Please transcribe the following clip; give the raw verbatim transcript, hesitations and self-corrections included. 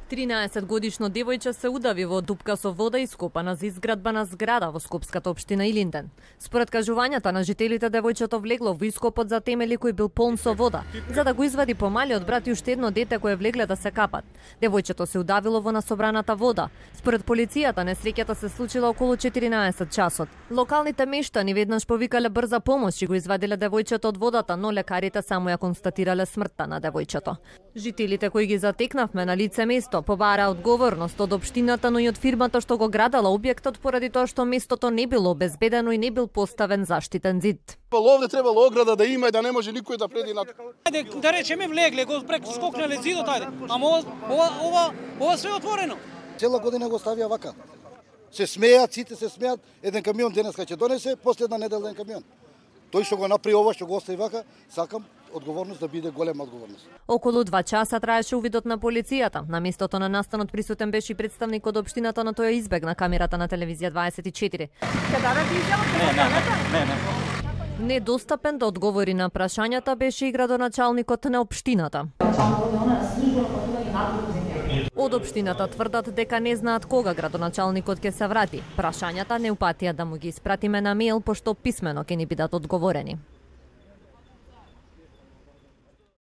тринаесет годишно девојче се удави во дупка со вода ископана за изградба на зграда во скопската општина Илинден. Според кажувањата на жителите, девојчето влегло во ископот за темели кој бил полн со вода, за да го извади помалиот брат и уште едно дете кое влегле да се капат. Девојчето се удавило во насобраната вода. Според полицијата, несреќата се случила околу четиринаесет часот. Локалните мештани веднаш повикале брза помош и го извадиле девојчето од водата, но лекарите само ја констатирале смртта на девојчето. Жителите кои ги затекнавме на лице место побара одговорност од општината, но и од фирмата што го градела објектот, поради тоа што местото не било обезбедено и не бил поставен заштитен зид. Овде требало ограда да има и да не може никој да преди на. Ајде да речеме влегле, го прескокнале зидот, ајде. Ама ова ова ова, ова све отворено. Цела година го ставија вака. Се смеат, сите се смеат, еден камион денеска ќе донесе, последна недела еден камион. Тој што го направи ова, што го остави вака, сакам одговорност да биде голема одговорност. Околу два часа траеше увидот на полицијата. На местото на настанот присутен беше и представник од општината, но тој избегна камерата на телевизија дваесет и четири. Не, не, не. Недостапен да одговори на прашањата беше и градоначалникот на општината. Од општината тврдат дека не знаат кога градоначалникот ќе се врати. Прашањата не упатија да му ги испратиме на мејл, пошто писмено ќе ни бидат одговорени.